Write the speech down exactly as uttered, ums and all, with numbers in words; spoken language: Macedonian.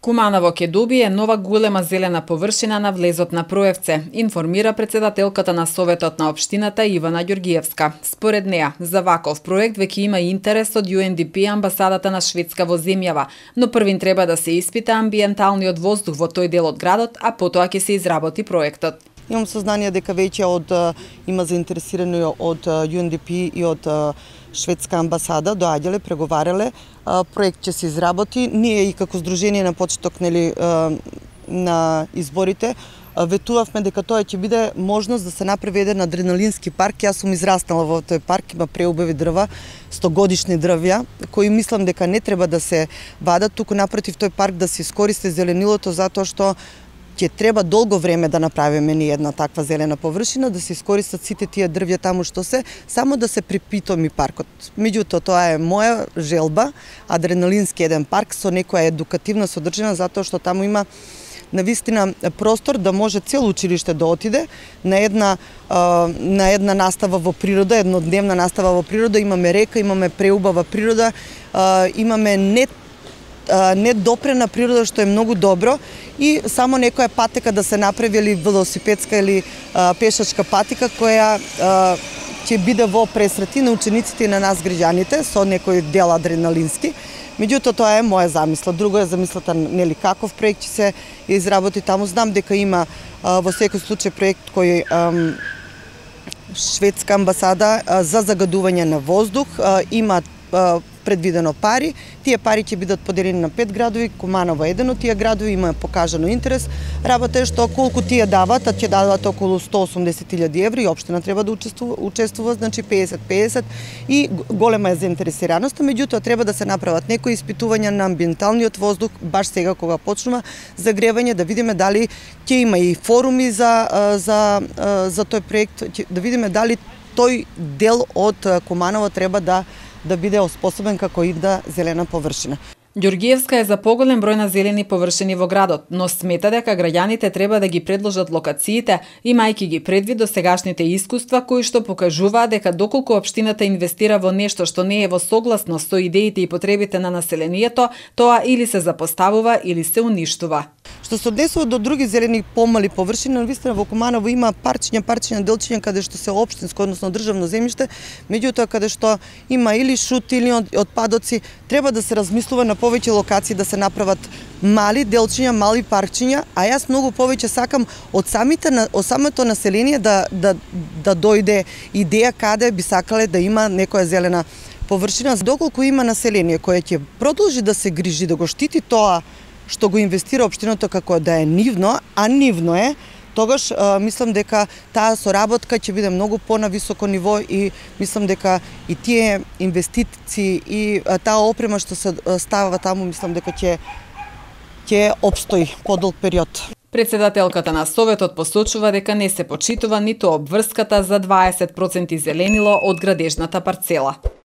Куманово ќе добие нова голема зелена површина на влезот на Проевце, информира председателката на Советот на општината Ивана Ѓоргиевска. Според неа, за ваков проект веќе има интерес од Ю Ен Ди Пи амбасадата на Шведска во земјава, но првин треба да се испита амбиенталниот воздух во тој дел од градот, а потоа ќе се изработи проектот. Имам сознание дека веќе од има заинтересирани од Ю Ен Ди Пи и од Шведска амбасада, доаѓале, преговарале, проект ќе се изработи. Ние и како здружение на почеток нели на изборите ветувавме дека тоа ќе биде можност да се направи еден адреналински парк. Јас сум израснала во тој парк, има преубави дрва, стогодишни дрвја, кои мислам дека не треба да се вадат, туку напротив тој парк да се искористи зеленилото затоа што ќе треба долго време да направиме ни една таква зелена површина, да се искористат сите тие дрвја таму што се, само да се припитоми паркот. Меѓутоа, тоа е моја желба, адреналински еден парк со некоја едукативна содржина, затоа што таму има навистина простор да може цело училиште да отиде на една на една настава во природа, еднодневна настава во природа, имаме река, имаме преубава природа, имаме не недопрена природа што е многу добро и само некоја патека да се направи или велосипедска или а, пешачка патека која а, ќе биде во пресрети на учениците и на нас граѓаните со некој дел адреналински. Меѓутоа тоа е моја замисла. Друго е замислата нели каков проект ќе се изработи таму. Знам дека има а, во секој случај проект кој а, Шведска амбасада а, за загадување на воздух а, има а, предвидено пари. Тие пари ќе бидат поделени на пет градови, Куманово е еден од тие градови, има покажано интерес. Работа е што колку тие дават, а ќе дават околу сто и осумдесет илјади евра и општина треба да учествува, учествува значи песет песет и голема е заинтересираноста, меѓутоа треба да се направат некои испитувања на амбиенталниот воздух баш сега кога почнува загревање, да видиме дали ќе има и форуми за за за тој проект, да видиме дали тој дел од Куманово треба да да биде оспособен како идна зелена површина. Ѓоргиевска е за поголем број на зелени површини во градот, но смета дека граѓаните треба да ги предложат локациите, имајќи ги предвид досегашните искуства кои што покажуваат дека доколку општината инвестира во нешто што не е во согласност со идеите и потребите на населението, тоа или се запоставува или се уништува. Што се однесува до други зелени помали површини, навистина во Куманово има парчиња, парчиња, делчиња каде што се општинско, односно државно земјиште, меѓутоа каде што има или шут или отпадоци, треба да се размислува на повеќе локации да се направат мали делчиња, мали парчиња, а јас многу повеќе сакам од самите од самото население да да да дојде идеја каде би сакале да има некоја зелена површина. Доколку има население кое ќе продолжи да се грижи, да го штити тоа што го инвестира општината како да е нивно, а нивно е, тогаш а, мислам дека таа соработка ќе биде многу понависоко ниво и мислам дека и тие инвестиции и а, таа опрема што се ставува таму, мислам дека ќе ќе опстои подолг период. Председателката на Советот посочува дека не се почитува ниту обврската за дваесет проценти зеленило од градежната парцела.